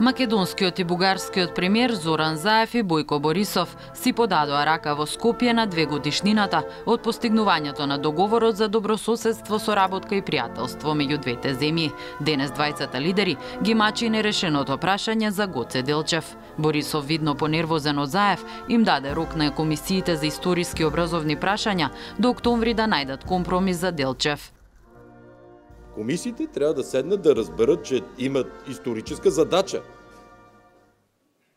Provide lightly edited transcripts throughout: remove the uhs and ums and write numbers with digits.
Македонскиот и бугарскиот премиер Зоран Заев и Бојко Борисов си подадоа рака во Скопје на 2-годишнината од постигнувањето на договорот за добрососедство, соработка и пријателство меѓу двете земји. Денес двајцата лидери ги мачи нерешеното прашање за Гоце Делчев. Борисов, видно понервозен од Заев, им даде рок на комисиите за историски образовни прашања до октомври да најдат компромис за Делчев. Комисиите трябва да седнат да разберат, че имат историческа задача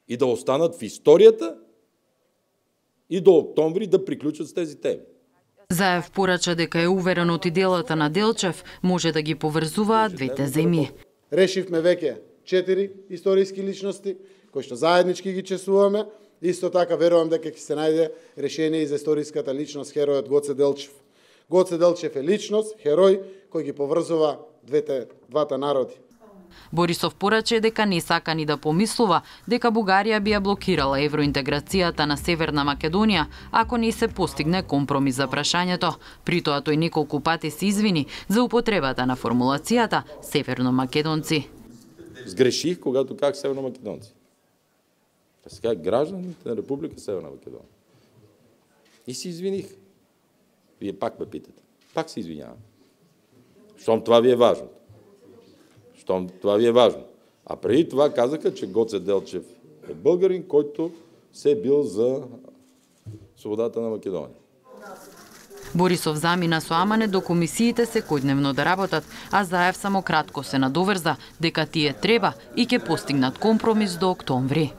и да останат в историята и до октомври да приключат с тези теми. Заев порача дека е уверен од иделата на Делчев може да ги поврзуваат двете земји. Решивме веќе 4 историски личности кои што заеднички ги чесуваме. Исто така верувам дека ќе се најде решение и за историската личност херојот Гоце Делчев. Гоце Делчев е личност, херој кој ги поврзува двата народи. Борисов пораче дека не сака ни да помислува дека Бугарија би ја блокирала евроинтеграцијата на Северна Македонија ако не се постигне компромис за прашањето. При тоа тој неколку пати се извини за употребата на формулацијата северномакедонци. Сгреших когато как северномакедонци. Сега гражданите на Република Северна Македонија. И се извиних. Вие пак ме питате. Пак се извинявам. Щом това ви е важно. А преди това казаха, че Гоце Делчев е българин, който се е бил за свободата на Македонија. Борисов замина со амане до комисиите секојдневно да работат, а Заев само кратко се надоврза дека тие треба и ќе постигнат компромис до октомври.